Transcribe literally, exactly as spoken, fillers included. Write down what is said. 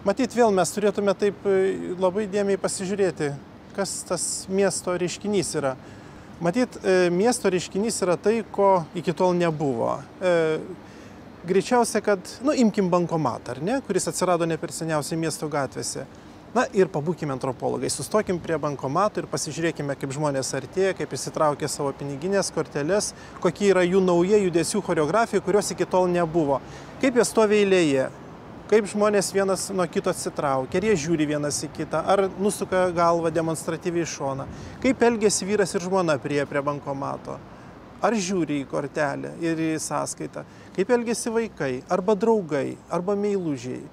Matyt, vėl mes turėtume taip labai dėmiai pasižiūrėti, kas tas miesto reiškinys yra. Matyt, miesto reiškinys yra tai, ko iki tol nebuvo. Greičiausia, kad, nu, imkim bankomatą, ar ne, kuris atsirado ne per seniausiai miesto gatvėse. Na ir pabūkime antropologai, sustokim prie bankomatų ir pasižiūrėkime, kaip žmonės artėja, kaip įsitraukia savo piniginės korteles, kokie yra jų nauja judesių choreografija, kurios iki tol nebuvo. Kaip jie stovi eilėje, kaip žmonės vienas nuo kito atsitraukia, ar jie žiūri vienas į kitą, ar nusuka galvą demonstratyviai į šoną, kaip elgiasi vyras ir žmona prie prie bankomato, ar žiūri į kortelę ir į sąskaitą, kaip elgiasi vaikai, arba draugai, arba meilužiai.